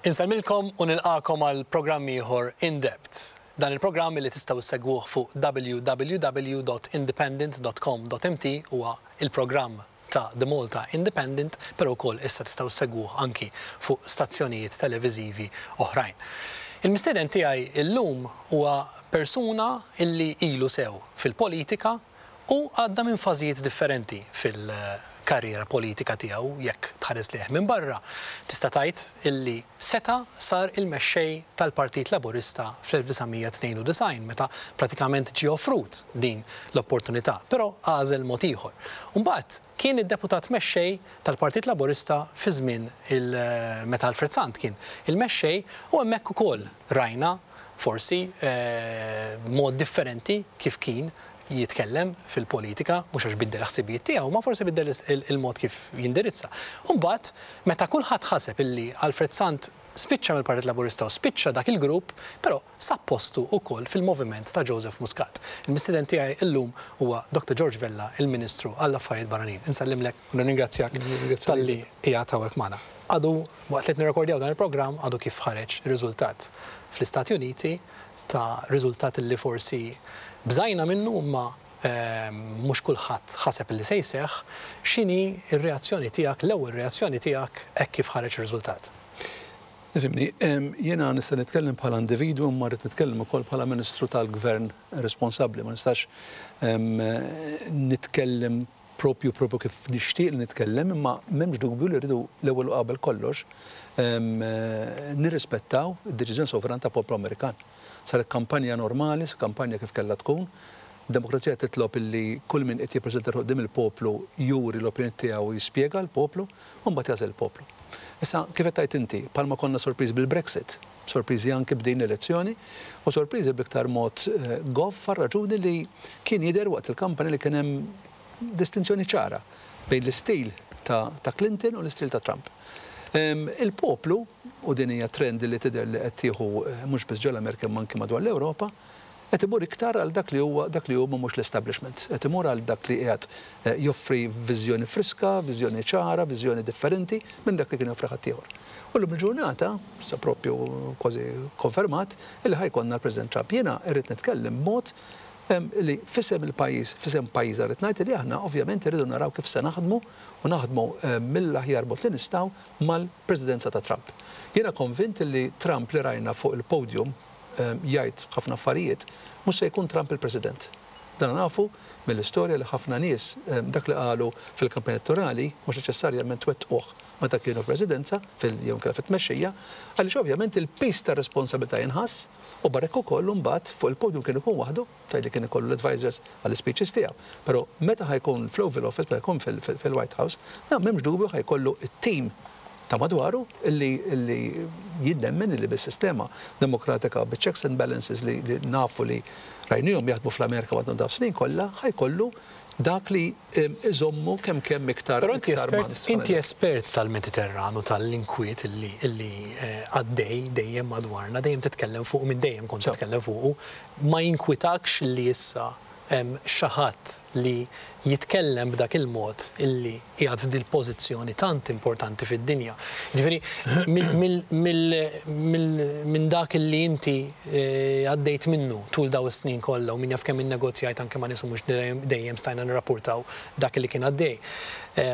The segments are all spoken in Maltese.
Insellmilkom u nilqagħkom għal programm ieħor In Depth. Dan il-programm li tistgħu ssegwuh fuq www.independent.com.mt huwa il-programm ta' The Malta Independent, però wkoll issa tistgħu ssegwuh anki fuq stazzjonijiet televiżivi oħrajn. Il-mistieden tiegħi illum huwa persuna illi ilu sew fil-politika u għadda minn fażijiet differenti fil-karriera politika tiegħu. Jekk tħares lejh minn barra, tista' tgħid illi seta' sar il-mexxej tal-Partit Laburista fl-1992 meta pratikament ġie offrut din l-opportunità, però għażel mod ieħor. U mbagħad kien id-deputat mexxej tal-Partit Laburista fi żmien il meta Alfred Sant kien il-mexxej u hemmhekk ukoll rajna forsi mod differenti kif kien jitkellem fil-politika, mhux għax biddel il-ħsibijiet tiegħu, ma forsi biddel il-mod kif jindirizza. U mbagħad meta kulħadd ħaseb illi Alfred Sant spiċċa mill-Partit Laburista u spiċċa dak il-grupp, però sab postu wkoll fil-moviment ta' Joseph Muscat. Il-mistieden tiegħi illum huwa Dr. George Vella, il-Ministru għall-Affarijiet Barranin. Insellimlek u nirringrazzjak talli qiegħed hawnhekk magħna. Għadu waqt li qed nirrekordjaw dan il-programm għadu kif ħareġ riżultat fl-Istati Uniti ta' riżultat li forsi bżajna minnu imma mhux kulħadd ħaseb li se jseħħ. X'inhi r-reazzjoni tiegħek, l-ewwel reazzjoni tiegħek hekk kif ħareġ ir-riżultat? Ifhimni, jiena nista' nitkellem bħala individwu imma rrid nitkellem ukoll bħala Ministru tal-Gvern responsabbli. Ma nistax nitkellem propju propju kif nixtieq li nitkellem, imma m'hemmx dubju li rridu l-ewwel u qabel kollox nirrispettaw id-deċiżjoni sovrana ta' poplu Amerikan. Saret kampanja normali, kampanja kif kellha tkun. Demokrazija titlob illi kull min qed jippreżenta ruħu quddiem il-poplu juri l-opinjoni tiegħu u jispjega l-poplu, u mbagħad jagħżel il-poplu. Issa, kif qed tgħid inti, bħalma konna sorpriżi bil-Brexit, sorpriżi anki b'din l-elezzjoni, u sorpriżi bl-iktar mod goff għar-raġuni li kien jidher waqt il-kampanja li kien hemm distinzjoni ċara bejn l-istil ta' ta' Clinton u l-istil ta' Trump. Il-poplu, u din hija trend li tidher li qed tieħu mhux biss ġol-Amerika imma anki madwar l-Ewropa, qed imur iktar għal dak li huwa dak li huma mhux l-establishment. Qed imur għal dak li qiegħed joffri viżjoni friska, viżjoni ċara, viżjoni differenti minn dak li kien joffri ħaddieħor. U llum il-ġurnata, issa propju kważi konfermat, illi ħa jkollna l-President Trump. Jiena rrid nitkellem b'mod li f'isem il-pajjiż, f'isem pajjiżna rrid ngħid li aħna ovvjament irridu naraw kif se naħdmu u naħdmu mill-aħjar mod li nistgħu mal-Presidenza ta' Trump. Jiena konvint li Trump li rajna fuq il-podium jgħid ħafna affarijiet, mhux se jkun Trump il-President. Dan nafu mill-istorja li ħafna nies dak li qalu fil-kampanja elettorali mhux neċessarjament wettquh meta kienu fil-Presidenza fil jew inkella fit-tmexxija, għaliex ovvjament il-piż tar-responsabilità jinħass u barra hekk ukoll imbagħad fuq il-podium kien ikun waħdu fejn li kien ikollu l-advisors għall-ispeeches tiegħu. Però meta ħa jkun fl-Oval Office, meta jkun fil-White House, dan m'hemmx dubju ħa jkollu t-team ta' madwaru illi illi jien nemmen illi bis-sistema demokratika biċ-checks and balances li li nafu li rajnihom jaħdmu fl-Amerika matul dawn is-snin kollha ħa jkollu dak li iżommu kemm kemm iktar Però inti espert, inti espert tal-Mediterran u tal-inkwiet illi illi għaddej dejjem madwarna, dejjem titkellem fuqu minn dejjem kont titkellem fuqu, ma jinkwitakx li issa hemm xi ħadd li jitkellem b'dak il-mod illi qiegħed f'dil-pożizzjoni tant importanti fid-dinja. Jiġifieri minn dak illi inti għaddejt minnu tul dawn is-snin kollha u min jaf kemm innegozjajt anke ma' nies u mhux dejjem stajna nirrappurtaw dak illi kien għaddej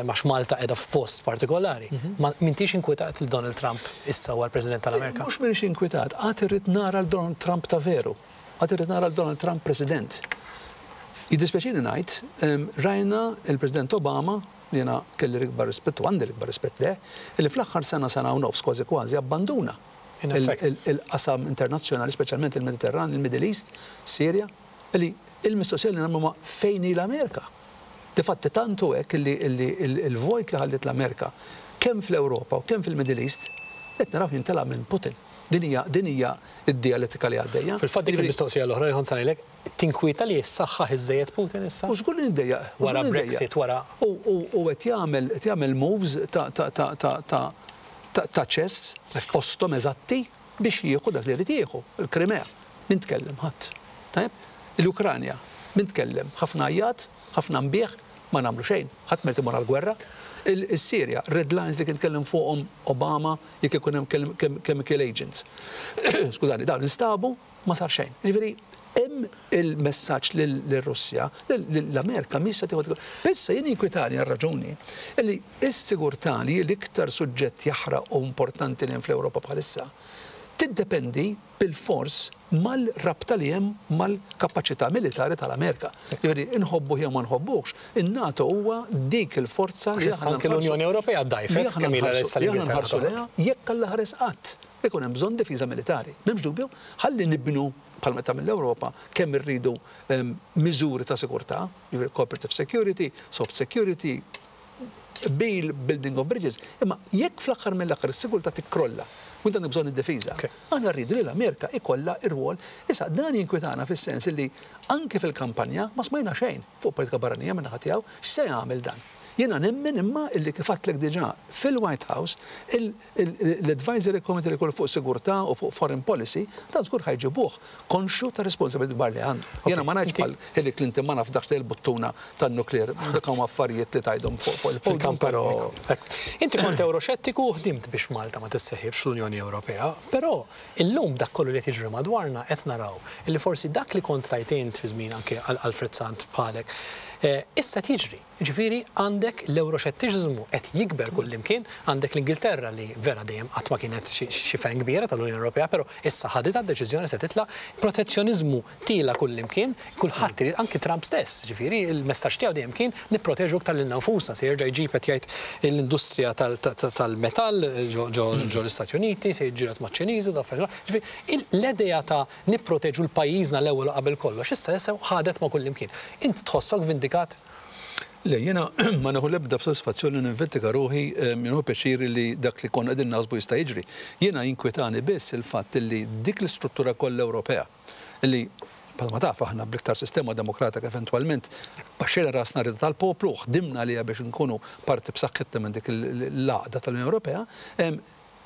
għax Malta qiegħda f'post partikolari. M'intix inkwetat li Donald Trump issa huwa l-President tal-Amerika? Mhux m'iniex inkwetat, għad irrid nara 'l Donald Trump ta' veru. Għad irrid nara 'l Donald Trump President. Jiddispjaċini ngħid, rajna l-President Obama, li jiena kelli l-ikbar rispett u għandi l-ikbar rispett lejh, li fl-aħħar sena, sena u nofs kważi kważi abbanduna il-qasam internazzjonali, speċjalment il-Mediterran, il-Middle East, Sirja, li l-mistoqsija li nagħmlu huma fejn hi l-Amerika? Difatti tant hu hekk li l-vojt li ħalliet l-Amerika kemm fl-Ewropa u kemm fil-Middle East qed narawh jimtela minn Putin. Din hija din hija d-dialettika li għaddejja. Fil-fatt dik il-mistoqsija l-oħra li kont se ngħidlek, tinkwieta li jissaħħaħ iżżejjed Putin issa? U żgur li niddejjaq. Wara Brexit, wara. U qed jagħmel qed jagħmel moves ta' ta' ta' ta' ta' ta' ta' chess f'posthom eżatti biex jieħu dak li jrid jieħu. Il-Krimea. Min tkellem? Ħadd. Tajjeb? Il-Ukranja. Min tkellem? Ħafna għajjat, ħafna nbiħ. Ma nagħmlu xejn, ħadd ma jrid imur għall-gwerra. Is-Sirja, red lines li kien tkellem fuqhom Obama jekk ikun hemm chemical agents. Skużani, dawn instabu, ma sar xejn. Jiġifieri hemm il-messaġġ lir-Russja, l-Amerika mhix se tieħu. Issa jien jinkwitani għal raġuni li s-sigurtà, li hi l-iktar suġġett jaħraq u importanti li hemm fl-Ewropa bħalissa, tiddependi bilfors mal-rabta li hemm mal-kapaċità militari tal-Amerika. Jiġifieri inħobbuh jew ma nħobbuhx, in-NATO huwa dik il-forza li aħna Anke l-Unjoni Ewropea ddgħajfet kemm ilha issa li aħna nħarsu lejha jekk Alla ħares qatt ikun hemm bżonn difiża militari. M'hemmx dubju, ħalli nibnu bħalma tagħmel l-Ewropa kemm irridu miżuri ta' sigurtà, jiġifieri cooperative security, soft security, bil building of bridges, imma jekk fl-aħħar mill-aħħar is-sigurtà tikkrolla u inti għandek bżonn id-difiża, aħna rridu li l-Amerika ikollha r-rwol. Issa dan jinkwitana fis-sens li anke fil-kampanja ma smajna xejn fuq politika barranija min-naħa tiegħu. X'se jagħmel dan? Jiena nemmen imma illi kif għedtlek diġà fil-White House l-Advisory Committee li jkun fuq sigurtà u fuq foreign policy, dan żgur ħa jġibuh konxju tar-responsabilità kbar li għandu. Jiena ma ngħidx bħal Hillary Clinton ma nafdax il-buttuna tan-nuklear, dak huma affarijiet li tgħidhom fuq il-podium, però. Inti kont Ewroxettiku u ħdimt biex Malta ma tisseħibx fl-Unjoni Ewropea, però illum dak kollu li qed jiġri madwarna qed naraw illi forsi dak li kont tgħid int fi żmien anke Alfred Sant bħalek, issa qed jiġri. Jiġifieri għandek l-Ewroxettiċiżmu qed jikber kullimkien, għandek l-Ingilterra li vera dejjem qatt ma kienet xi fan kbira tal-Unjoni Ewropea, però issa ħaditha d-deċiżjoni se titlaq, protezzjoniżmu tiela' kullimkien, kulħadd irid, anki Trump stess, jiġifieri l-messaġġ tiegħu dejjem kien nipproteġu iktar lilna nfusna, se jerġa' jġib qed jgħid l-industrija tal-metall ġo l-Istati Uniti, se jiġġieled maċ-Ċiniżi u dawn l-affarijiet. Jiġifieri l-idea ta' nipproteġu l-pajjiżna l-ewwel u qabel kollox issa issa ħadet ma' kullimkien. Int tħossok vindikat? Le, jiena ma nieħu l-ebda sodisfazzjon li ninvendika ruħi, nieħu pjaċir li dak li konna qegħdin naħsbu jista' jiġri. Jiena jinkwitani biss il-fatt li dik l-istruttura kollha Ewropea li bħalma taf aħna bl-iktar sistema demokratika eventwalment baxxejna rasna r-rieda tal-poplu u ħdimna għaliha biex inkunu parti b'saħħitna minn dik l-għaqda tal-Unjoni Ewropea,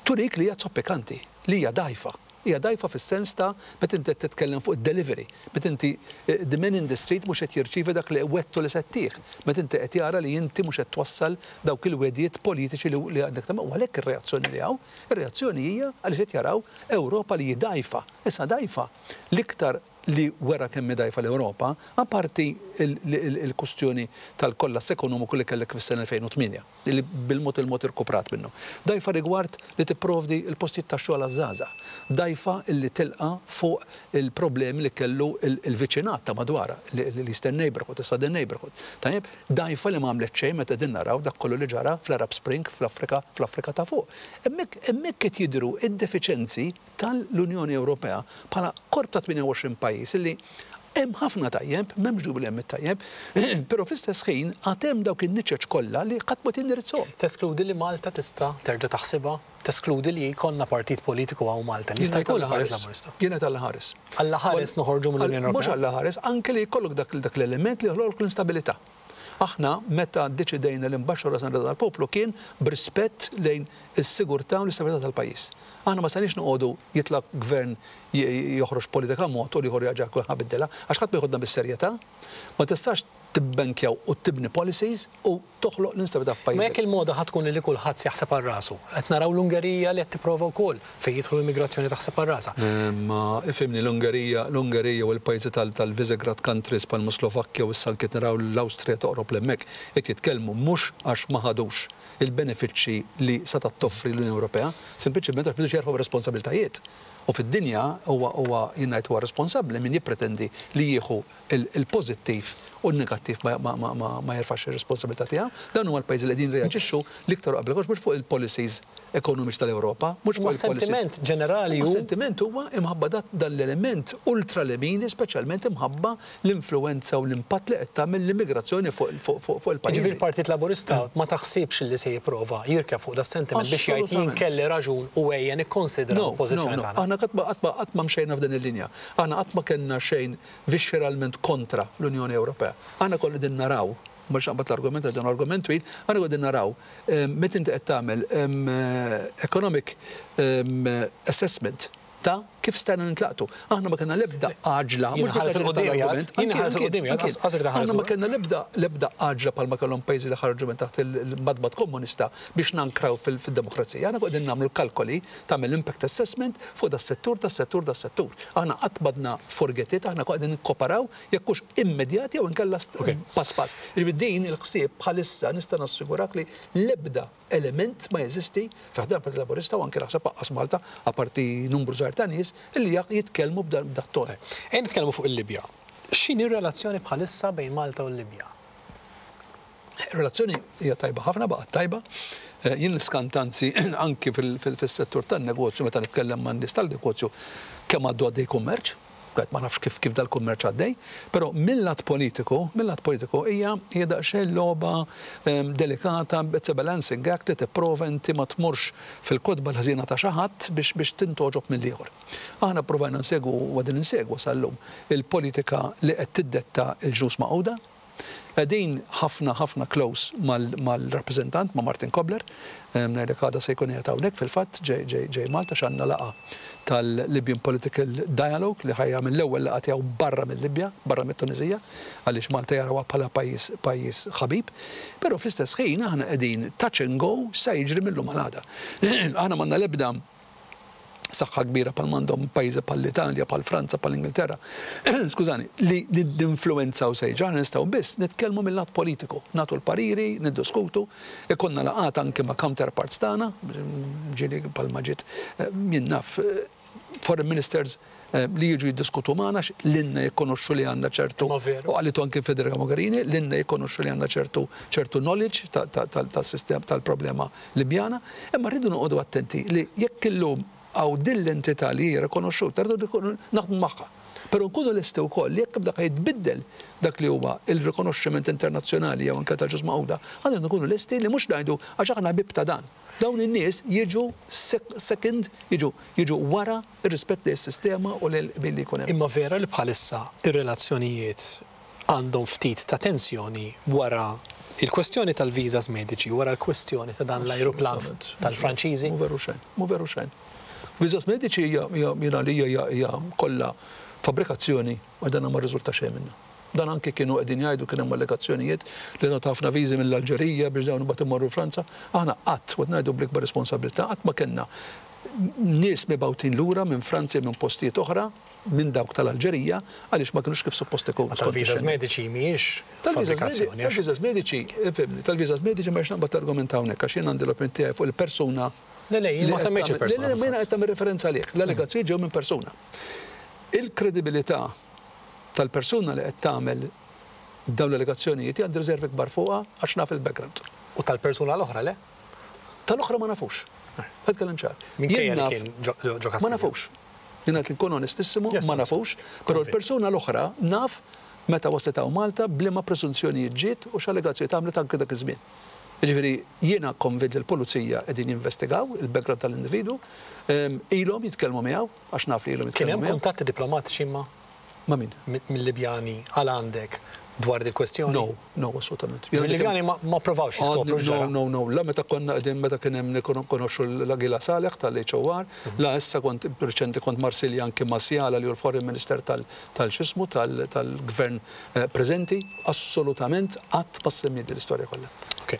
turik li hija zoppikanti, li hija dgħajfa. Hija dgħajfa fis-sens ta' meta inti qed titkellem fuq id-delivery, meta inti the man in the street mhux qed jirċievi dak li wegħdtu li se ttih, meta inti qed jara li inti mhux qed twassal dawk il-wegħdiet politiċi li għandek tagħmel. U għalhekk ir-reazzjoni li hawn, ir-reazzjoni hija għaliex qed jaraw Ewropa li hi dgħajfa. Issa dgħajfa l-iktar li wera kemm hi dgħajfa l-Ewropa, apparti l-kustjoni tal-kollass ekonomiku li kellek fis-sena 2008, li bil-mod il-mod irkuprat minnu. Dgħajfa rigward li tipprovdi l-postijiet tax-xogħol għaż-żgħażagħ. Dgħajfa li tilqa' fuq il-problemi li kellu l-viċinat ta' madwarha, l-Eastern Neighbourhood, is-Southern Neighbourhood. Tajjeb, dgħajfa li ma għamlet xejn meta qegħdin naraw dak kollu li ġara fl-Arab Spring fl-Afrika, fl-Afrika ta' fuq. Hemmhekk, hemmhekk qed jidhru d-defiċenzi tal-Unjoni Ewropea bħala korp ta' 28 pajjiż li hemm ħafna tajjeb, m'hemmx dubju li hemm it-tajjeb, però fl-istess ħin għad hemm dawk in-niċeċ kollha li ħadd ma jindirizzhom. Teskludi li Malta tista' terġa' taħsibha? Teskludi li jkollna partit politiku hawn Malta li jista' jkun il-Partit Laburista? Jien ngħid Alla ħares. Alla ħares noħorġu mill-Unjoni Ewropea? Mhux Alla ħares, anke li jkollok dak l-element li joħloqlok l-instabilità. Aħna meta ddeċidejna li nbaxxu rasna r-rieda tal-poplu kien b'rispett lejn is-sigurtà u l-istabilità tal-pajjiż. Aħna ma stajniex noqogħdu jitla' gvern joħroġ politika mod u l-ieħor jerġa' jkun ħa biddilha għax ħadd ma jeħodna bis-serjetà. Ma tistax tibbenkja u tibni policies u toħloq l-instabilità f'pajjiżek. Ma jekk il-moda ħa tkun li kulħadd jaħseb għal rasu. Qed naraw l-Ungerija li qed tipprova wkoll fejn jidħlu l-immigrazzjoni taħseb għal rasha. Ma ifhimni l-Ungerija, l-Ungerija u l-pajjiżi tal-Visegrad countries bħalma Slovakkja u issa anke qed naraw l-Awstrija toqrob 'l hemmhekk qed jitkellmu mhux għax ma ħadux il-benefiċċji li setgħet toffri l-Unjoni Ewropea, sempliċement għax m'ridux jerfgħu r-responsabbiltajiet. U fid-dinja huwa huwa jien ngħid huwa responsabbli min jippretendi li jieħu il-pożittiv u n-negattiv ma jerfax ir-responsabilità tiegħu. Dawn huma l-pajjiżi li qegħdin jirreaġixxu l-iktar u qabel kollox mhux fuq il-policies ekonomiċi tal-Ewropa, mhux fuq il-policies. Imma s-sentiment ġenerali hu. Is-sentiment huwa imħabba dan l-element ultralemini speċjalment imħabba l-influwenza u l-impatt li qed tagħmel l-immigrazzjoni fuq il-pajjiżi. Jiġifieri l-Partit Laburista ma taħsibx li se jipprova jirkeb fuq das-sentiment biex jgħid jien kelli raġun u ejja nikkonsidra l-pożizzjoni tagħna? No, no, no. Aħna qatt ma mxejna f'din il-linja. Aħna qatt ma kellna xejn vixxeralment kontra l-Unjoni Ewropea. Aħna konna qegħdin naraw, ma rridx naqbad l-argument għax dan hu argument twil, aħna konna qegħdin naraw meta inti qed tagħmel economic assessment ta' kemm kif stajna nintlaqtu. Aħna ma kellna l-ebda għaġla. Jien ħares 'il quddiem jgħid, jien ħares 'il quddiem jgħid, qas irid iħares Aħna ma kellna l-ebda l-ebda għaġla bħalma kellhom pajjiżi li ħarġu minn taħt il-madmad komunista biex nankraw fid-demokrazija. Aħna qegħdin nagħmlu l-kalkoli, tagħmel impact assessment fuq das-settur, das-settur, das-settur. Aħna qatt m'għadna forget it, aħna qegħdin nikkoperaw jekk hux immedjat jew inkella pass pass. Jiġifieri din il-ħsieb bħalissa nista' nassigurak li l-ebda element ma jeżisti fi ħdan Partit Laburista u anke naħseb aqqas Malta, apparti numru żgħir ta' nies illi jitkellmu b'dat ton. Ejja nitkellmu fuq il-Libja. X'inhi r-relazzjoni bħalissa bejn Malta u l-Libja? Ir-relazzjoni hija tajba ħafna, baqgħet tajba. Jien niskanta anzi anki fis-settur tan-negozju meta nitkellem man-nies tal-negozju kemm għaddu għaddej kummerċ. Għad ma nafx kif kif dal-kummerċ għaddej, però mill-lat politiku, mill-lat politiku hija hija daqsxejn logħba delikata, it's a balancing act li tipprova inti ma tmurx fil-kotba l-ħżiena ta' xi ħadd biex biex tintgħoġob mill-ieħor. Aħna pprovajna nsegwu u qegħdin insegwu sal-lum il-politika li qed tiddetta l-Ġnus Magħquda. Qegħdin ħafna ħafna close mal-rappreżentant, ma' Martin Kobler. Ngħidlek għada se jkun qiegħed hawnhekk fil-fatt, ġej ġej ġej Malta għax għandna laqgħa tal-Libyan Political Dialogue li ħa jagħmel l-ewwel laqgħa tiegħu barra mil-Libja, barra mit-Tuniżija, għaliex Malta jarawha bħala pajjiż pajjiż ħabib. Però fl-istess ħin aħna qegħdin touch and go x'sa jiġri mil-lum għal għada. Aħna m'għandna l-ebda saħħa kbira bħal m'għandhom pajjiżi bħall-Italja, bħal Franza, bħal Ingilterra, skużani, li ninfluwenzaw se jiġri. Aħna nistgħu biss nitkellmu mill-lat politiku, nagħtu l-pariri, niddiskutu, ikollna laqgħat anke ma' counterparts tagħna, ġieli bħalma ġiet jien naf foreign ministers li jiġu jiddiskutu magħna għax lilna jikkonoxxu li għandna ċertu, u qalitu anke Federica Mogherini, lilna jikkonoxxu li għandna ċertu ċertu knowledge tas-sistema tal-problema Libjana, imma rridu noqogħdu attenti li jekk illum hawn din l-entità li hija rikonoxxuta rridu naħdmu magħha. Però nkunu lesti wkoll li jekk dak jitbiddel dak li huwa il-rikonoxximent internazzjonali jew anke tal-Ġnus Magħquda, għandna nkunu lesti li mhux ngħidu għax aħna ħbieb ta' dan. Dawn in-nies jiġu second, jiġu jiġu wara r-rispett lejn is-sistema u lejn il-qbil li jkun hemm. Imma vera li bħalissa ir-relazzjonijiet għandhom ftit ta' tensjoni wara il-kwestjoni tal-visas mediċi, wara l-kwestjoni ta' dan l-ajruplan tal-Franċiżi? Mhu veru xejn, mhu veru xejn. Visas mediċi hija jiena għalija hija hija kollha fabbrikazzjoni u dan ma rriżulta xejn minnha. Dan anki kienu qegħdin jgħidu kien hemm allegazzjonijiet li ngħataw ħafna viżi mill-Alġerija biex dawn imbagħad imorru Franza. Aħna qatt, u qed ngħidu bl-ikbar responsabilità, qatt ma kellna nies mibgħutin lura minn Franza jew minn postijiet oħra minn dawk tal-Alġerija għaliex ma kinux kif suppost ikunu. Ma tal-viżas mediċi mhijiex fabbrikazzjoni. Tal-viżas mediċi, fhimni, tal-viżas mediċi ma rridx naqbad l-argument hawnhekk għax jien għandi l-opinjoni tiegħi fuq il-persuna. Le, le, jien ma semmejtx il-persuna. Le, le, ma jiena qed tagħmel referenza għalih. L-allegazzjonijiet ġew minn persuna. Il-kredibilità tal-persuna li qed tagħmel dawn l-allegazzjonijiet għandi riservi kbar fuqha għax naf il-background. U tal-persuna l-oħra le? Tal-oħra ma nafux. Ħa nitkellem ċar. Minkejja li kien ġo Kastilja. Ma nafux. Jiena qed inkun onestissimu, ma nafux, però l-persuna l-oħra naf meta waslet hawn Malta b'liema preżunzjonijiet ġiet u x'allegazzjonijiet għamlet anke dak iż-żmien. Jiġifieri jiena konvint li l-pulizija qegħdin jinvestigaw il-background tal-individwu, ilhom jitkellmu miegħu, għax naf li ilhom jitkellmu miegħu. Kien hemm kuntatti diplomatiċi imma? Ma' min? Mil-Libjani għal għandek dwar dil-kwestjoni? No, no, assolutament. Il-Libjani ma pprovawx jiskopru x'ġara? No, no, no, la meta konna qegħdin meta kien hemm nikkonoxxu l-Aguila Saleh tal-HOR, la issa kont riċenti kont Marsilja anki ma' Siala li hu l-Foreign Minister tal-x'ismu tal-Gvern preżenti, assolutament qatt ma ssemmiet din l-istorja kollha. Ok.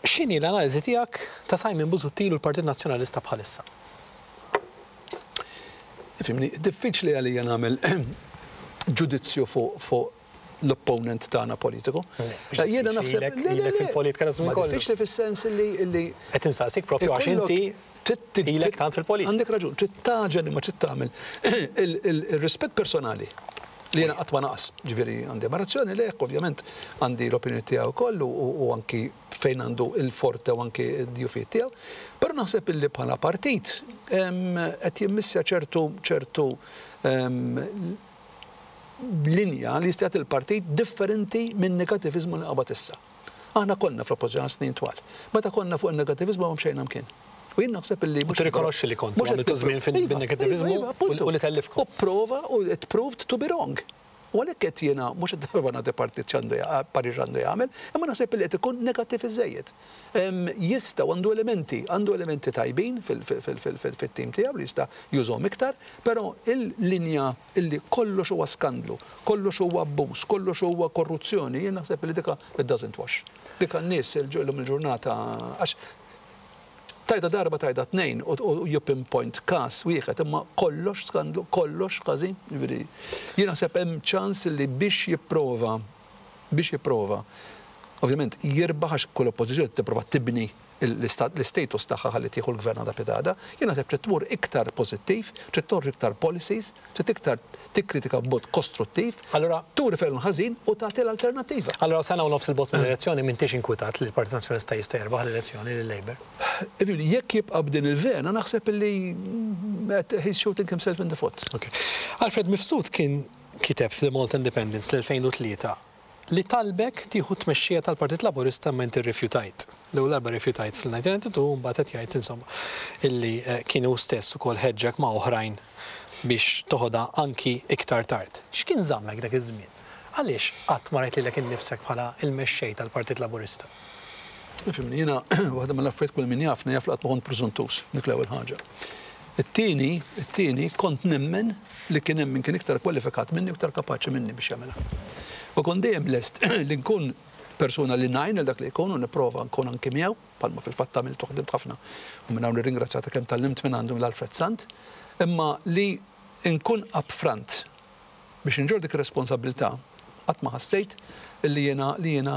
X'inhi l-analiżi tiegħek ta' Simon Busuttil u l-Partit Nazzjonalista bħalissa? Ifhimni, diffiċli għalija nagħmel ġudizzju fuq l-opponent tagħna politiku. Jiena naħseb ilek fil-politika ta' żmien kollu. Diffiċli fis-sens li Qed insaqsik propju għax inti ilek tant fil-politika. Għandek raġun, trid tagħġen imma trid tagħmel ir-rispett personali li jiena qatt ma naqas. Ġifieri għandi ammirazzjoni lejh, ovvjament għandi l-opinjoni tiegħu wkoll u anki fejn għandu il-forte u anki d-djufijiet tiegħu. Però naħseb illi bħala partit qed jimmissja ċertu ċertu linja li jista' jagħti l-partit differenti minn negativiżmu li qabad issa. Aħna konna fl-oppożizzjoni għal snin twal. Meta konna fuq in-negativiżmu ma mxejna mkien. U jien naħseb illi mhux. Tirrikonoxxi li kontu għamiltu żmien fin-negativiżmu u li tellifkom. U prova u it proved to be wrong. U għalhekk qed jiena mhux qed nipprova nagħti partit x'għandu parir x'għandu jagħmel, imma naħseb li qed ikun negattiv iżżejjed. Jista' u għandu elementi, għandu elementi tajbin fit-tim tiegħu li jista' jużhom iktar, però il-linja illi kollox huwa skandlu, kollox huwa abbuż, kollox huwa korruzzjoni, jien naħseb li dika it doesn't wash. Dika n-nies illum il-ġurnata għax tgħidha darba tgħidha tnejn u you pinpoint każ wieħed imma kollox skandlu, kollox ħażin, jiġifieri jien naħseb hemm ċans li biex jipprova biex jipprova ovvjament jirbaħ għax kull oppożizzjoni tipprova tibni l-istatus tagħha ħalli tieħu l-gvern għada pitgħada, jien naħseb trid tmur iktar pożittiv, trid toħroġ iktar policies, trid iktar tikkritika b'mod kostruttiv, Allura turi fejn hu l-ħażin u tagħti l-alternattiva. Allura sena u nofs 'il bogħod mill-elezzjoni m'intix inkwitat li l-Partit Nazzjonalista jista' jirbaħ l-elezzjoni lil Labour? Jiġifieri jekk jibqa' b'din il-vena naħseb illi he's shooting himself in the foot. Ok. Alfred Mifsud kien kiteb f'The Malta Independent fl-2003 li talbek tieħu t-tmexxija tal-Partit Laburista imma inti rrifjutajt. L-ewwel darba rrifjutajt fil-1992 u mbagħad qed jgħid insomma illi kien hu stess ukoll ħeġġek ma' oħrajn biex toħodha anki iktar tard. X'kien żammek dak iż-żmien? Għaliex qatt ma rajt lilek innifsek bħala l-mexxej tal-Partit Laburista? Ifhimni, jiena waħda mill-affarijiet kull min jafni jaf li qatt ma kont prużuntuż, dik l-ewwel ħaġa. It-tieni, it-tieni, kont nemmen li kien hemm min kien iktar kwalifikat minni u iktar kapaċi minni biex jagħmilha. U kont dejjem lest li nkun persuna li ngħin lil dak li jkun u nipprova nkun anki miegħu, bħalma fil-fatt għamilt u ħdimt ħafna u minn hawn nirringrazzjah ta' kemm tgħallimt minn għandu minn Alfred Sant, imma li nkun upfront Biex inġorr dik ir-responsabbiltà, qatt ma ħassejt li jiena li jiena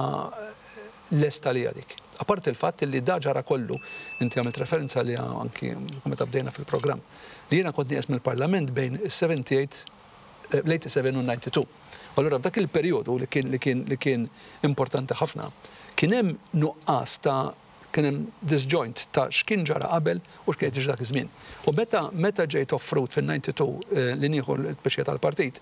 lest għaliha dik. Apparti l-fatt li da ġara kollu, inti għamilt referenza għaliha anki meta bdejna fil-programm, li jiena kont nieqes mill-Parlament bejn is-78, l-87 u n-92. U allura f'dak il-perjodu li kien li kien li kien importanti ħafna, kien hemm nuqqas ta' Kien hemm disjoint ta' x'kien ġara qabel u x'kien qed jiġri dak iż-żmien. U meta meta ġejt offrut fin-92 li nieħu l-tmexxija tal-partit,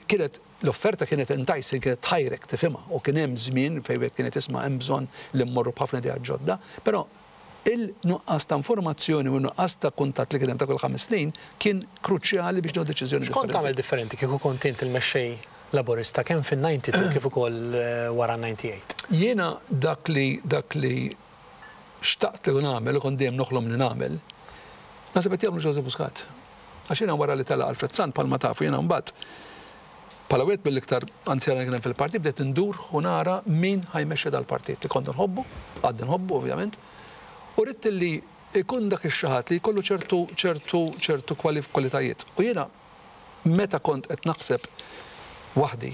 kienet l-offerta kienet enticing, kienet tħajrek tifhimha u kien hemm żmien fejn wieħed kien qed jisma' hemm bżonn li mmorru b'ħafna ideat ġodda, però il-nuqqas ta' informazzjoni u n-nuqqas ta' kuntatt li kien hemm ta' kull ħames snin kien kruċjali biex nieħu deċiżjoni X'kont differenti. tagħmel differenti kieku kont int il-mexxej Laburista kemm fin-92 kif ukoll wara n-98? Jiena dak li dak li xtaqt li nagħmel u kont dejjem noħlom li nagħmel, naħseb qed jagħmlu Joseph Muscat. Għax jiena wara li telaq Alfred Sant bħalma tafu jiena mbagħad bħala wieħed mill-iktar anzjani li kien hemm fil-partit bdejt indur u nara min ħa jmexxi dal-partit li kont inħobbu, għadni nħobbu ovvjament, u ridt li jkun dak ix-xi ħadd li jkollu ċertu ċertu ċertu kwalitajiet. U jiena meta kont qed naħseb waħdi,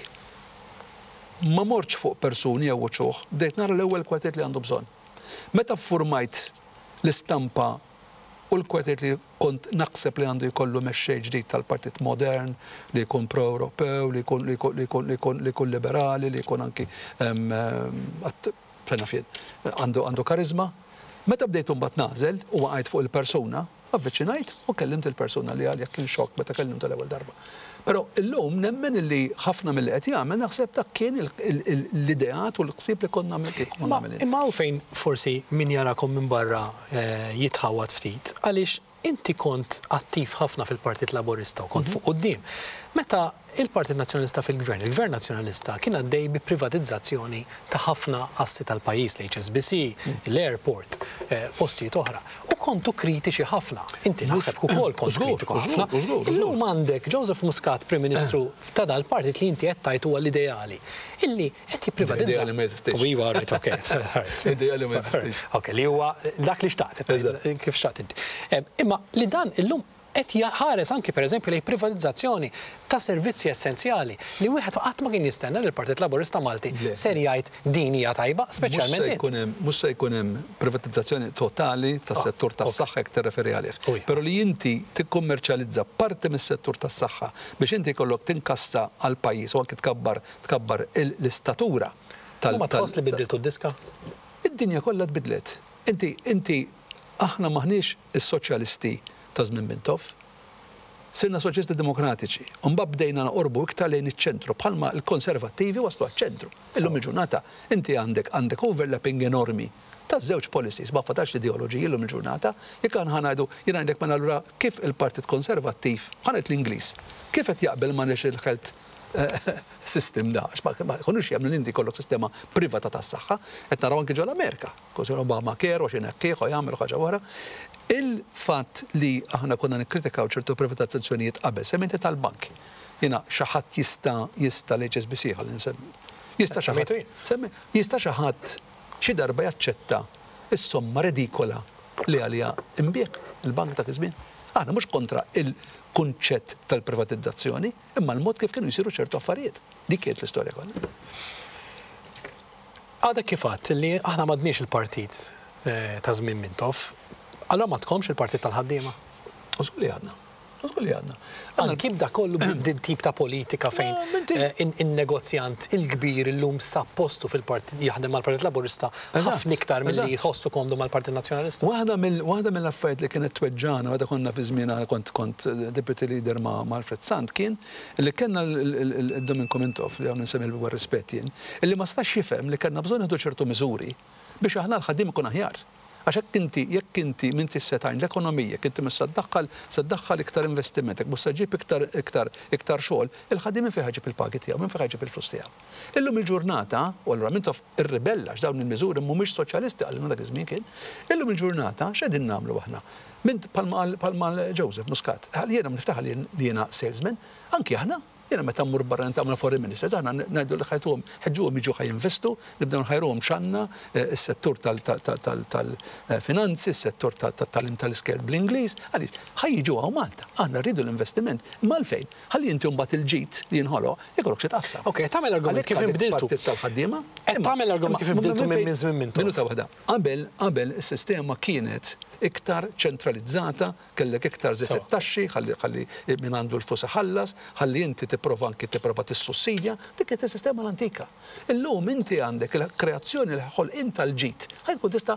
ma mortx fuq persuni jew uċuħ, bdejt nara l-ewwel kwalitajiet li għandu bżonn. Meta ffurmajt l-istampa u l-kwalitajiet li kont naħseb li għandu jkollu mexxej ġdid tal-partit modern, li jkun pro-Ewropew, li jkun li jkun li jkun li jkun li jkun liberali, li jkun anki fejn naf jien, għandu għandu kariżma. Meta bdejt imbagħad nagħżel u waqajt fuq il-persuna, Avviċinajt u kellimt il-persuna li għalija kien xokk meta kellimtu l-ewwel darba. Però illum nemmen illi ħafna milli qed jagħmel naħseb dak kien l-ideat u l-ħsieb li kont nagħmel kieku kont nagħmel jien. Imma hawn fejn forsi min jarakom minn barra jitħawwad ftit għaliex inti kont attiv ħafna fil-Partit Laburista u kont fuq quddiem. Meta il-Partit Nazzjonalista fil-Gvern, il-Gvern Nazzjonalista kien għaddej bi privatizzazzjoni ta' ħafna assi tal-pajjiż, l-HSBC, l-airport, postijiet oħra. U kontu kritiċi ħafna. Inti naħseb ukoll kont kritiku ħafna. Illum għandek Joseph Muscat, Prim Ministru ta' dal-partit li inti qed tgħid huwa l-ideali, illi qed jipprivatizza. Ideali ma jeżistix. Iva, right, ok. Ideali ma jeżistix. Ok, li huwa dak li xtaqt, kif xtaqt inti. Imma li dan illum qed jħares anki pereżempju lejn privatizzazzjoni ta' servizzi essenzjali li wieħed qatt ma kien jistenna li l-Partit Laburista Malti ser jgħid din hija tajba, speċjalment int. Mhux se jkun hemm privatizzazzjoni totali tas-settur tas-saħħa jekk tirreferi għalih. Però li inti tikkummerċjalizza parti mis-settur tas-saħħa biex inti jkollok tinkassa għall-pajjiż u anki tkabbar tkabbar l-istatura tal. U ma tħoss li biddiltu d-diska? Id-dinja kollha tbiddlet. Inti, inti, aħna m'aħniex is-soċjalisti ta' żmien Mintoff. Sirna Soċjalisti Demokratiċi, u mbagħad bdejna noqorbu iktar lejn iċ-ċentru, bħalma l-Konservattivi waslu għaċ-ċentru. Illum il-ġurnata inti għandek għandek overlapping enormi ta' żewġ policies, ma fadalx l-ideoloġiji llum il-ġurnata. Jekk aħna ħa ngħidu, jiena ngħidlek mela allura kif il-Partit Konservattiv, ħa ngħid l-Ingliż, kif qed jaqbel ma' National Health System da, għax ma jkunux jemmnu li inti jkollok sistema privata tas-saħħa, qed naraw anki ġol-Amerika. Kważi Obamacare u x'inhekk ieħor jagħmel ħaġa oħra. Il-fatt li aħna konna nikkritikaw ċertu privatizzazzjonijiet qabel, semmejt tal-bank. Jiena xi ħadd jista' jista' l-HSBC ħalli nsemmi. Jista' xi ħadd jista' xi ħadd xi darba jaċċetta s-somma redikola li għaliha nbiegħ il-bank dak iż-żmien? Aħna mhux kontra il-kunċett tal-privatizzazzjoni, imma l-mod kif kienu jsiru ċertu affarijiet. Dik kienet l-istorja kollha. Għadek kif għedt li aħna m'għadniex il-partit ta' żmien Mintoff, allura m'għadkomx il-partit tal-ħaddiema? U żgur li għadna. U żgur li għadna. Anki b'dak kollu b'din tip ta' politika fejn in-negozjant il-kbir illum sab postu fil-partit jaħdem mal-Partit Laburista ħafna iktar milli jħossu komdu mal-Partit Nazzjonalista. Waħda mill-affarijiet li kienet tweġġagħna meta konna fi żmien kont kont deputy leader ma' Alfred Sant kien li kellna l-Dominko Mintoff li hawn insemmi l-ikbar rispett jien, illi ma setax jifhem li kellna bżonn nieħdu ċertu miżuri biex aħna l-ħaddiem ikun aħjar. Għax jekk inti, jekk inti m'intix se tgħin l-ekonomija, jekk inti mhux se ddaħħal, se ddaħħal iktar investiment, jekk mhux se ġġib iktar, iktar, iktar xogħol, il-ħaddiem minn fejn ħa jġib il-pagi tiegħu, minn fejn ħa jġib il-flus tiegħu? Illum il-ġurnata, u allura Mintoff irribella għax dawn il-miżuri mhumiex soċjalisti qalilna dak iż-żmien kien, illum il-ġurnata x'qegħdin nagħmlu aħna? Mint, bħalma qal, bħalma qal Joseph Muscat, qal jiena niftaħar li jiena salesman, anki aħna, Jiena meta mmur barra niltaqa' mal-foreign ministers, aħna ngħidu li ħajtuhom, ħeġġuhom jiġu ħa jinvestu, nibdew nħajruhom x'għandna, is-settur tal-finanzi, is-settur tat-tagħlim tal-iskejjel bl-Ingliż, għaliex? Ħa jiġu hawn Malta. Aħna rridu l-investiment. Imma għalfejn? Ħalli inti mbagħad il-ġid li jinħoloq ikollok xi tqassam. Ok, qed tagħmel argument kif inbdiltu. Għalhekk tal-ħaddiema. Qed tagħmel argument kif inbdiltu minn żmien Mintoff. Minuta waħda. Qabel, qabel is-sistema kienet iktar ċentralizzata, Kellek iktar żied it-taxxi, ħalli ħalli min għandu l-flus iħallas, ħalli inti tipprova anki tipprova tissussidja, dik kienet is-sistema l-antika. Illum inti għandek il-kreazzjoni, il-ħolqien tal-ġid. Ħalli tkun tista'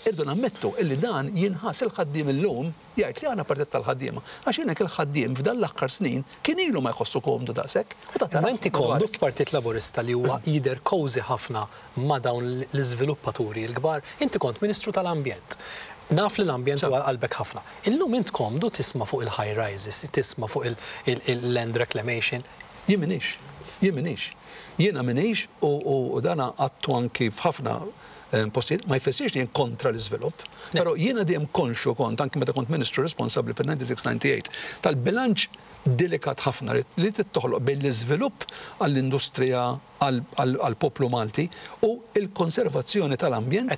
irridu nammettu illi dan jinħass il-ħaddiem illum jgħid li aħna partit tal-ħaddiema. Għax jien hekk il-ħaddiem f'dan l-aħħar snin kien ilu ma jħossu komdu daqshekk. U ta' Imma inti komdu f'Partit Laburista li huwa jidher cozy ħafna ma' dawn l-iżviluppaturi l-kbar? Inti kont Ministru tal-Ambjent. Naf li l-ambjent huwa għal qalbek ħafna. Illum int komdu tisma' fuq il-high rises, tisma' fuq il-land reclamation? Jien m'iniex. Jien m'iniex. Jiena m'iniex u dan għadtu anki f'ħafna postijiet, ma jfissirx li jien kontra l-iżvilupp, però jiena dejjem konxju kont, anki meta kont Ministru responsabbli fin-96-98, tal-bilanċ delikat ħafna li trid toħloq bejn l-iżvilupp għall-industrija, għall-poplu Malti u l-konservazzjoni tal-ambjent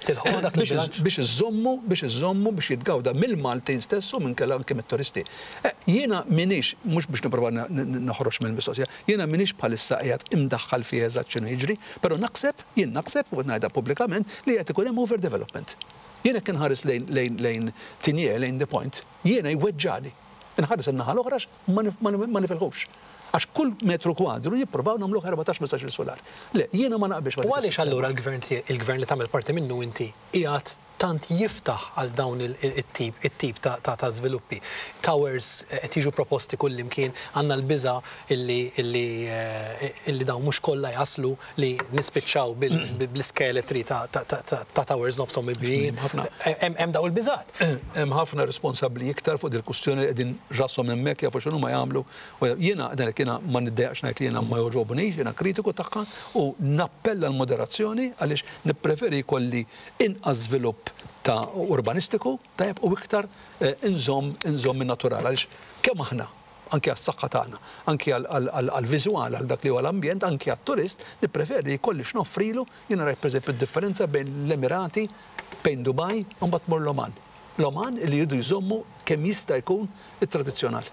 biex iżżommu biex iżżommu biex jitgawda mill-Maltin stess u minkella anke mit-turisti. Jiena m'iniex, mhux biex nipprova noħroġ mill-mistoqsija, jiena m'iniex bħalissa qiegħed imdaħħal fih eżatt x'inhu jiġri, però naħseb, jien naħseb, u qed ngħidha pubblikament, li qed ikun hemm overdevelopment. Jien jekk inħares lejn lejn lejn Tigné, lejn The Point, jiena jweġġagħni. Inħares in-naħa l-oħra għax ma nifilħux. Għax kull metru kwadru jippruvaw nagħmluh 14 15-il sular. Le, jiena ma naqbilx ma' dik is-sistema. U għaliex allura l-gvern il-gvern li tagħmel parti minnu inti qiegħed tant jiftaħ għal dawn it-tip it-tip ta' żviluppi? Towers qed jiġu proposti kullimkien, għandna l-biża' illi illi illi dawn mhux kollha jaslu li nispiċċaw bl-iskeletri ta' towers nofshom mibnijin. Hemm dawn il-biżgħat. Hemm ħafna responsabbli iktar fuq dil-kwistjoni li qegħdin rashom hemmhekk jafu x'inhuma jagħmlu. Jiena ngħidlek jiena ma niddejjaqx ngħid li jiena ma jogħġobnix, jiena kritiku tagħha u nappella għall-moderazzjoni għaliex nippreferi jkolli inqas żvilupp ta' urbanistiku tajjeb u iktar inżomm inżomm in-natural għaliex kemm aħna anki għas-saħħa tagħna, anki għall-viżwal, għal dak li huwa l-ambjent, anki għat-turist, nippreferi li jkolli x'noffrilu. Jiena rajt pereżempju d-differenza bejn l-Emirati, bejn Dubai u mbagħad tmur l-Oman. L-Oman li jridu jżommu kemm jista' jkun it-tradizzjonal.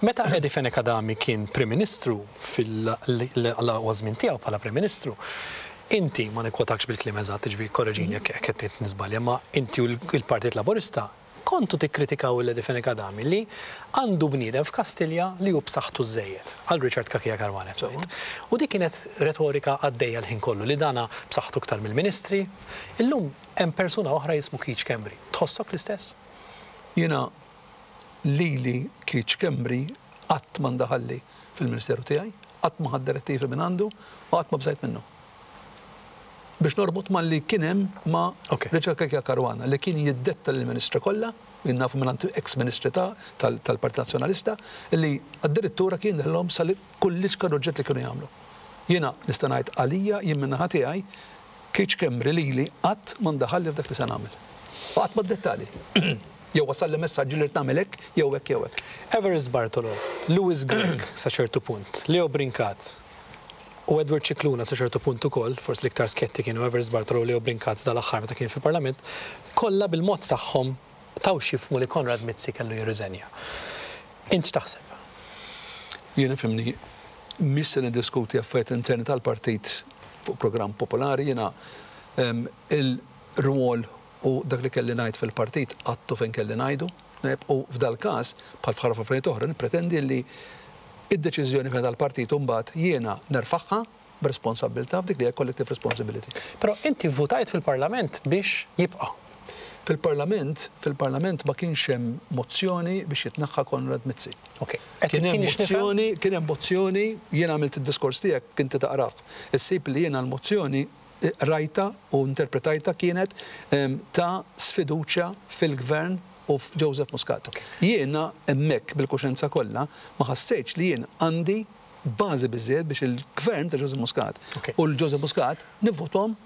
Meta Eddie Fenech Adami kien Prim Ministru fil-aqwa żmien tiegħu bħala Prim Ministru, inti, ma nikkwotakx bil-kliem eżatt, jiġifieri kkoreġini jekk qed niżbalja, imma inti u l-Partit Laburista Kontu tikkritikaw lil Eddie Fenech Adami li għandu bniedem f'Kastilja li hu b'saħħtu żżejjed, għal Richard Cachia Caruana qed ngħid. U dik kienet retorika għaddejja l-ħin kollu li dana b'saħħtu iktar mill-ministri. Illum hemm persuna oħra jismu Keith Schembri. Tħossok l-istess? Jiena Lili Keith Schembri qatt ma ndaħalli fil-Ministeru tiegħi, qatt ma ħadt direttivi mingħandu u qatt ma bżajt minnu. Biex norbot malli kien hemm ma' Richard Cachia Caruana li kien jiddetta lill-Ministri kollha, jien nafu mingħand ex-Ministri ta' tal-Partit Nazzjonalista, li addirittura kien jindaħlilhom sa kull l-iskar oġġett li kienu jagħmlu. Jiena nista' ngħid għalija jien min-naħa tiegħi Keith Schembri lili qatt ma ndaħalli f'dak li se nagħmel. U qatt ma ddettali. Jew wasalli messaġġi li rrid nagħmel hekk jew hekk jew hekk. Evarist Bartolo, Louis Grech sa ċertu punt, Leo Brincat u Edward Scicluna sa ċertu punt ukoll, forsi l-iktar skjetti kienu Evarist Bartolo u Leo Brincat dal-aħħar meta kien fil-Parlament, kollha bil-mod tagħhom taw x'jifhmu li Konrad Mizzi kellu jirriżenja. Int x'taħseb? Jien ifhimni, mhix se niddiskuti affarijiet interni tal-partit fuq programm popolari, jiena il-rwol u dak li kelli ngħid fil-partit għadtu fejn kelli ngħidu, u f'dal-każ, bħal f'ħafna affarijiet oħra, nippretendi li d-deċiżjoni fejn tal-partit imbagħad jiena nerfagħha b'responsabbiltà f'dik li hija collective responsibility. Però inti vvutajt fil-Parlament biex jibqa'. Fil-Parlament, fil-Parlament ma kienx hemm mozzjoni biex jitneħħa Konrad Mizzi. Ok. Qed Kien hemm ittini x'nifhem? mozzjoni, kien hemm mozzjoni, jiena għamilt id-diskors tiegħek inti taqrah. Issib li jiena l-mozzjoni qrajtha u interpretajtha kienet ta' sfiduċja fil-Gvern u f'Joseph Muscat. Jiena hemmhekk bil-kuxjenza kollha ma ħassejtx li jien għandi bażi biżżejjed biex il-Gvern ta' Joseph Muscat u l-Joseph Muscat nivvothom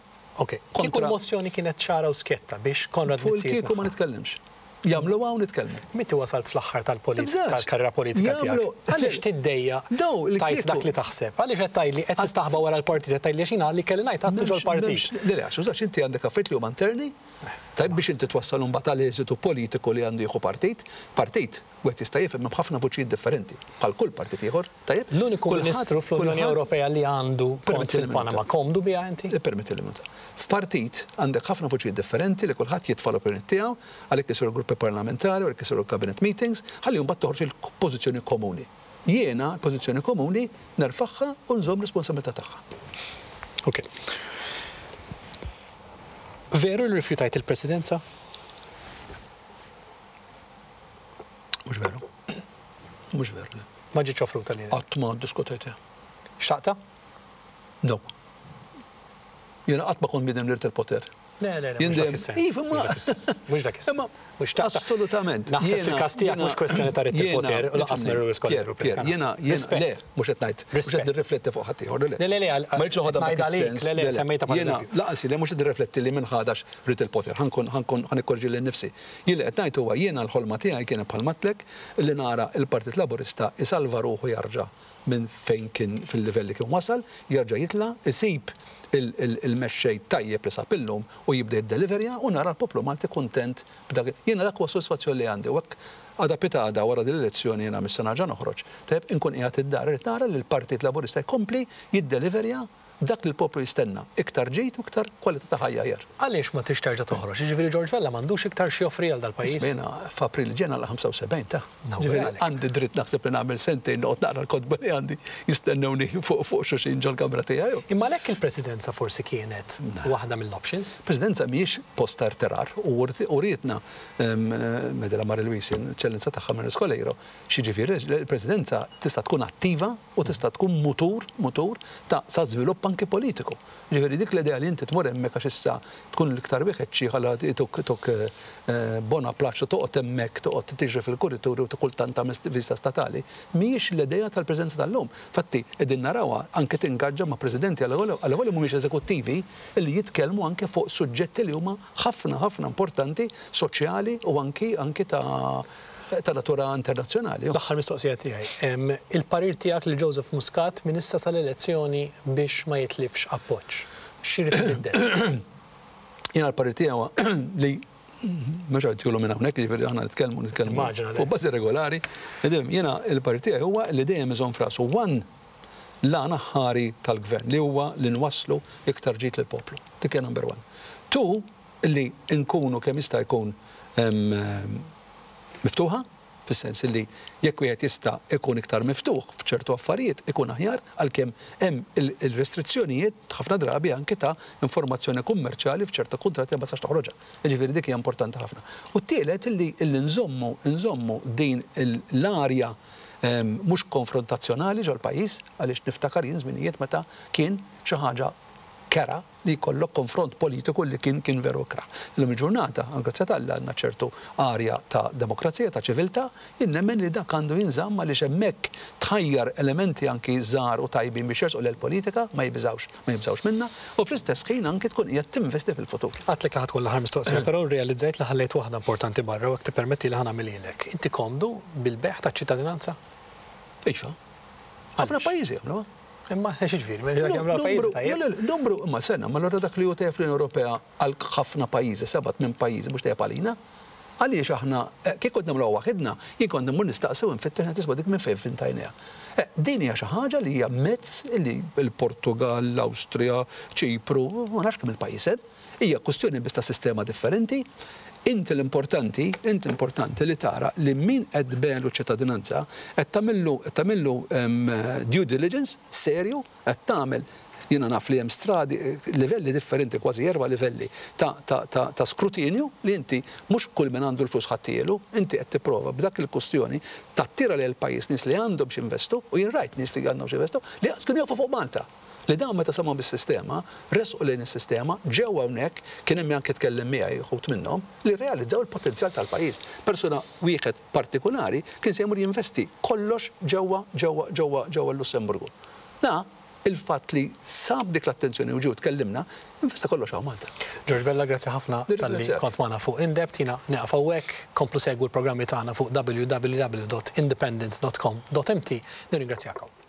Ok. Kieku l-mozzjoni kienet ċara u skjetta biex Konrad Fuq Mizzi il-kieku ma jitneħħa. nitkellimx. Jagħmluha u nitkellmu. M'inti wasalt fl-aħħar tal-polit Nibżax. tal-karriera politika tiegħek. Jagħmlu Għaliex tiddejjaq Daw tgħid il-kieku. dak li taħseb? Għaliex qed tgħidli qed tistaħba wara l-partit, qed tgħidli għax jiena li kelli ngħid għadtu M'hemmx ġol-partit. m'hemmx le le għax użax inti għandek affarijiet li huma interni, tajjeb biex inti twassal imbagħad għal eżitu politiku li għandu jieħu partit. Partit, wieħed jista' jifhem hemm ħafna vuċijiet differenti, bħal kull partit ieħor, tajjeb? L-uniku Kulħadd ministru fl-Unjoni kulħadd Ewropea li għandu kont Permettili minuta. fil-Panama, komdu biha inti? Ippermettili minuta. F'partit għandek ħafna vuċijiet differenti li kulħadd jitfa' l-opinjoni tiegħu, għalhekk isiru gruppi parlamentari, għalhekk isiru cabinet meetings, ħalli mbagħad toħroġ il-pożizzjoni komuni. Jiena l-pożizzjoni komuni nerfagħha u nżomm responsabilità tagħha. Ok. Veru li rrifjutajt il-presidenza? Mhux veru. Mhux veru, le. Ma ġietx offruta lilek? Qatt ma ddiskutejtha. Xtaqtha? No. Jiena qatt ma kont bniedem li rrid il-poter. Le, le, le, mhux dak is-sens. Iva, ma. Mhux dak is-sens. Mhux dak is-sens. Imma Mhux xtaqtha. Assolutament. Naħseb fil-każ tiegħek mhux kwestjoni ta' ridt il-poter u lanqas Mary Rose Pier, Colero. Pier, jiena, jiena, le, mhux qed ngħid, mhux qed nirrifletti fuq ħaddieħor, le. Le, le, le, Ma rridx noħodha ngħid b'dak għalik, is-sens. le, le, semmejtha bħala Jiena, eżempju. lanqas le mhux qed nirrifletti li min ħadax ridt il-poter, ħa nkun, ħa nkun, ħa nikkorġi lil nnifsi. Jien li qed ngħid huwa jiena l-ħolma tiegħi kienet bħal m'għedtlek li nara l-Partit Laburista jsalva ruħu jarġa' minn fejn kien fil-livell li kien wasal, jerġa' jitla', isib il-mexxej tajjeb li sab illum u jibda jiddeliverja u nara l-poplu Malti kuntent b'dak. Jiena dak huwa s-sodisfazzjon li għandi u hekk għada pitgħada wara din l-elezzjoni jiena mhux se nerġa' noħroġ. Tajjeb inkun qiegħed id-dar irid nara li l-Partit Laburista jkompli jiddeliverja dak li l-poplu jistenna, iktar ġid u iktar kwalità ta' ħajja aħjar. Għaliex ma tridx terġa' toħroġ? Jiġifieri George Vella m'għandux iktar x'joffri għal dal-pajjiż? Isma' jiena f'April li ġej nagħlaq 75 ta'. Nawguralek. Ġifieri għandi dritt naħseb li nagħmel sentejn noqgħod naqra l-kotba li għandi jistennewni fuq fuq xulxin ġol-kamra tiegħi. Imma għalhekk il-Presidenza forsi kienet waħda mill-options? Presidenza mhijiex post ta' irtirar u urietna Medela Marie Louise, l-Eċċellenza tagħha Marie Coleiro, x'jiġifieri l-Presidenza tista' tkun attiva u tista' tkun mutur, mutur ta' sa żvilupp anki politiku. Ġifieri dik l-idea li inti tmur hemmhekk għax issa tkun l-iktar wieħed xi ħalla tuk tuk bona plaċ u toqgħod hemmhekk toqgħod tiġri fil-kurituri u kultant tagħmel vista statali, mhijiex l-idea tal-Presidenza tal-lum. Fatti qegħdin narawha anke tingaġġa ma' presidenti għal li mhumiex eżekuttivi li jitkellmu anke fuq suġġetti li huma ħafna ħafna importanti soċjali u anki anki ta' ta' natura internazzjonali. L-aħħar mistoqsija tiegħi. Il-parir tiegħek lil Joseph Muscat minn issa sal-elezzjoni biex ma jitlifx appoġġ. X'irid ibiddel? Jiena l-parir tiegħu li mhux qed jgħidu minn hawnhekk, jiġifieri aħna nitkellmu nitkellmu Immaġina, le. fuq bażi regolari. Jiena l-parir tiegħi huwa li dejjem iżomm f'rasu one l-għan aħħari tal-gvern li huwa li nwasslu iktar ġid lill-poplu. Dik hija number one. Two, li nkunu kemm jista' jkun miftuħa. Fis-sens li jekk wieħed jista' jkun iktar miftuħ f'ċertu affarijiet ikun aħjar għalkemm hemm il-restrizzjonijiet ħafna drabi anke ta' informazzjoni kummerċjali f'ċerta kuntratti li ma tistax toħroġha. Jiġifieri dik hija importanti ħafna. U t-tielet illi illi nżommu nżommu din l-arja mhux konfrontazzjonali ġol-pajjiż għaliex niftakar jien żminijiet meta kien xi ħaġa kerha li jkollok konfront politiku li kien kien veru ikrah. Illum il-ġurnata, għall-grazzja t'Alla għandna ċertu arja ta' demokrazija, ta' ċiviltà, jien nemmen li dak għandu jinżamm għaliex hemmhekk tħajjar elementi anki żgħar u tajbin biex jersqu lejn il-politika, ma jibżgħux ma jibżgħux minnha, u fl-istess ħin anki tkun qiegħed tinvesti fil-futur. Għedtlek li ħa tkun l-aħħar mistoqsija, però rrealizzajt li ħallejt waħda importanti barra u jekk tippermettili ħa nagħmilhielek. Inti komdu bil-bejgħ taċ-ċittadinanza? Iva. Ħafna pajjiżi jagħmluha. Imma x'jiġifieri, mela dak jagħmluha pajjiżi tajjeb? Le, le, numru, imma sena, ma allura dak li hu tajjeb fl-Unjoni Ewropea għal ħafna pajjiżi, seba' tmien pajjiżi mhux tajjeb għalina? Għaliex aħna, kieku qed nagħmluha waħidna, jien kont immur nistaqsi u nfittex ngħid isma' dik minn fejn fintajniha. Din hija xi ħaġa li hija mezz li l-Portugall, l-Awstrija, Ċipru, ma nafx kemm il-pajjiż hemm. Hija kwistjoni biss ta' sistema differenti. Inti l-importanti, inti l-importanti li tara li min qed tbegħlu ċ-ċittadinanza qed tagħmillu qed tagħmillu due diligence serju, qed tagħmel jiena naf li hemm stradi, livelli differenti, kważi erba' livelli ta' ta' ta' ta' skrutinju li inti mhux kull min għandu l-flus ħa ttielu, inti qed tipprova b'dak il-kwistjoni tattira lejn il-pajjiż nies li għandhom x'jinvestu u jien rajt nies li għandhom x'jinvestu li qas kienu jafu fuq Malta. Li dawn meta semgħu bis-sistema, resqu lejn is-sistema, ġew hawnhekk, kien hemm min anke tkellem miegħi wħud minnhom, li rrealizzaw il-potenzjal tal-pajjiż. Persuna wieħed partikulari kien se jmur jinvesti kollox ġewwa ġewwa ġewwa ġewwa l-Lussemburgu. Da, il-fatt li sab dik l-attenzjoni u ġie u tkellimna, investa kollox hawn Malta. George Vella, grazzi ħafna talli kont magħna fuq In-Depth. Jiena nieqaf hawnhekk. Komplu segwu l-programmi tagħna fuq www.independent.com.mt. Nirringrazzjakom.